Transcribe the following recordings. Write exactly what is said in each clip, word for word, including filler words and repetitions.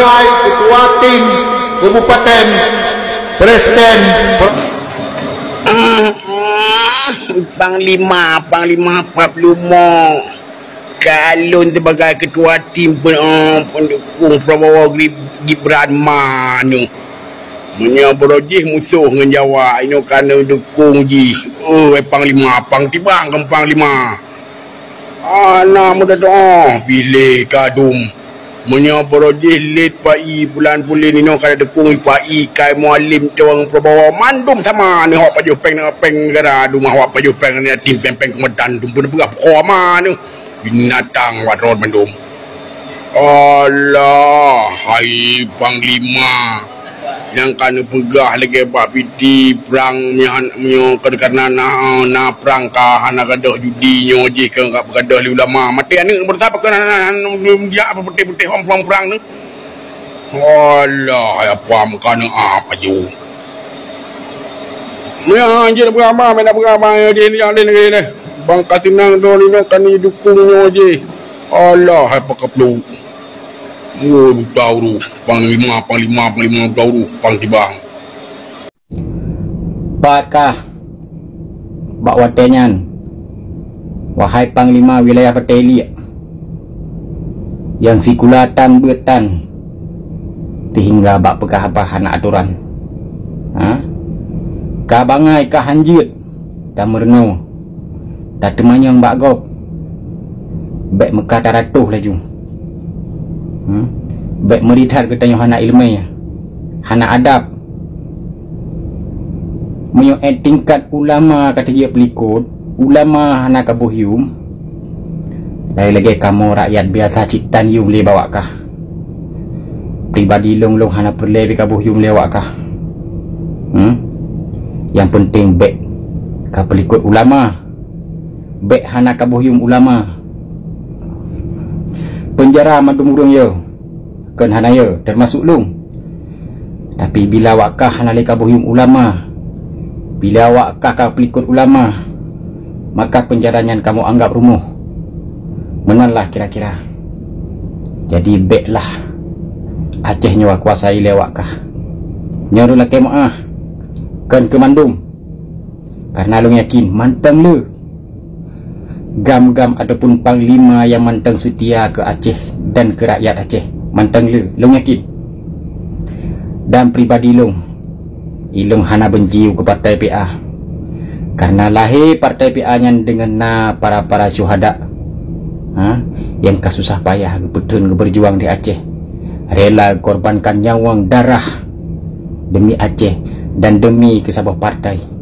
Ketua tim kabupaten, presiden. Panglima, Panglima Pablumo. Kalon sibagai ketua tim pen-, eh, pendukung Prabowo Gri-, Gibran manu. Meunyoe beurojih musoh ngon Jawa, inoe ka neudukung jih. Oh, eh, Panglima, Pang Tibang keu Panglima. Ana muda doa pilih kadum. Meunyoe beurojih lét pai bulan pulen inoe ka dukung pai kai mualim tuang Prabowo mandum sama ni hok pajoh peng na peng negara dumah hok pajoh peng ni tim peng-peng kemedan dum pun peugah koma ni binatang watrot mandum. Allah, hai Panglima. Nyang ka neupeugah lagée bak piti prang nyan, nyoe keu kareuna na, na prang ka hana gadôh judi nyoe jih keu ka gadôh lé ulama. Maté aneuëk beureusa pakon hana, hana, hana, hana, jak apa putéh-putéh wang prang-prang ni. Alah, apa meukaneuk apa ju. Meunan jih beurama, meunan beurama jih ni alin lagée nyoe. Bang ka seunang droe nyoe ka neudukung nyoe jih. Alah, apa kaplu. Wo, duta uru, panglima, panglima, panglima duta uru, pang tibang. Pat kah bak watée nyan, wahai panglima wilayah Batée Iliek, nyang sikula tan beuet tan seuhingga bak peugah haba hana atoran? Ha? Ka bangai ka hanjeuet, tameurunoe, tateumanyong bak gob. Bék meuka taratoh laju. Hmm? Bék meuri that geutanyoe hana iéleumé, hana adab. Meunyoe ék tingkat ulama ka teujeuet peulikot, ulama hana kaboh yuem, lagée-lagée kamoe rakyat biasa cit tan yuem lé bak awak kah. Pribadi lôn, lôn hana peureulée pih kaboh yuem lé awak kah. Hmm? Nyang peunteng bék ka peulikot ulama. Bék hana kaboh yuem ulama. Peunjara mandum ureuëng yo, kon hana yo, teumasok lôn. Tapi bila awak kah hana lé kaboh yuem ulama, bila awak kah ka peulikot ulama, maka peunjara nyan kamoe anggab rumoh. Meunanlah kira-kira. Jadi béklah Aceh nyoe kuasai lé awak kah. Nyoe lôn lakée meuáh, kon keu mandum. Kareuna lôn yakin mantong le gam-gam ataupun panglima nyang mantong seutia keu Aceh dan keu rakyat Aceh, mantong le lôn yakin. Dan pribadi lôn, ilôn hana benci keu partai P A. Kareuna lahé partai P A nyan deungon na para-para syuhada, ha, nyang ka susah payah geupeutheun geubeujuang di Aceh, rela korbankan nyawöng darah demi Aceh dan demi keu saboh partai.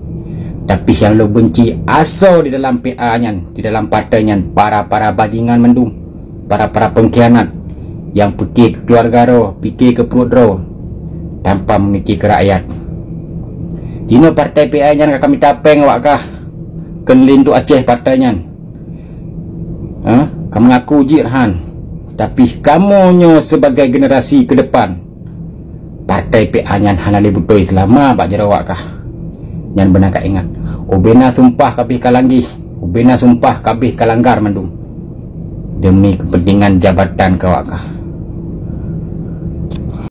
Tapi nyang lôn benci asoe di dalam P A nyan, di dalam partai nyan, para-para bajingan mandum, para-para pengkhianat nyang pike keu keuluwarga droe, pike keu pruet droe, tanpa memike keu rakyat. Jinoe partai P A nyan ka mita péng awak kah, kon lé duek Aceh partai nyan. Ha? Ka mengaku jih han. Tapi kamoe nyoe sebagai generasi ke depan, partai P A nyan hana lé beutôi seulama bak jaroe awak kah. Nyan beuna ka ingat. Ubena sumpah kabeh ka langgeh, ubena sumpah kabeh ka langgar mandum. Demi kepentingan jabatan keu awak kah.